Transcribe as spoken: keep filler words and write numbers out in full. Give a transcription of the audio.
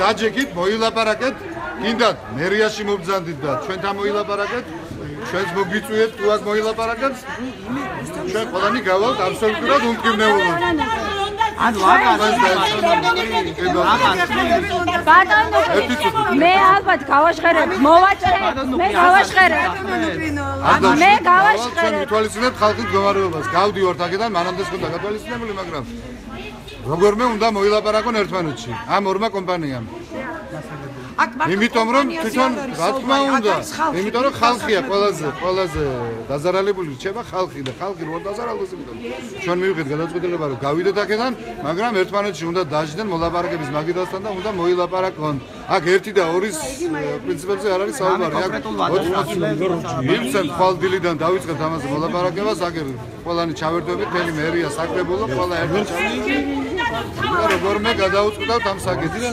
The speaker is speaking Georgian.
დაჯექით, მოილაპარაკეთ, გინდათ მერიაში მობრძანდით და ჩვენთან მოილაპარაკეთ, ჩვენს მოგიწვიეთ თუ აქ მოილაპარაკეთ. ჩვენ ყველანი გავალთ აბსოლუტურად უმკურნალოდ. ანუ აღარ ბატონო მე ალბათ გავაშხერებ მოვაჭრე მე გავაშხერებ მე გავაშხერებ მითვალისწინებთ ხალხის მდგომარეობას გავდივართ აქედან მანამდე ხონდა გათვალისწინებული მაგრამ როგორმე უნდა მოილაპარაკონ ერთმანეთში ამ ორმა კომპანიამ იმიტომ რომ თვითონ რა თქმა უნდა იმიტომ რომ ხალხია ყველაზე ყველაზე დაზარალებული რჩება ხალხი და ხალხი რო დაზარალდეს იმიტომ ჩვენ მივიღეთ გადაწყვეტილება რომ გავიდეთ აქედან მაგრამ ერთმანეთში უნდა დაждდენ მოლაპარაკების მაგიდასთან და უნდა მოილაპარაკონ აქ ერთი და ორის პრინციპებზე არ არის საუბარი აქ ოცდაათი ხვალდილიდან დავიწყებთ ამაზე მოლაპარაკებას აქ ყველანი ჩავერთვებით მთელი მერია საკრებულო ყველა ერთად ჩავერთვით და როგორმე გადაუწყდავთ ამ საკითხს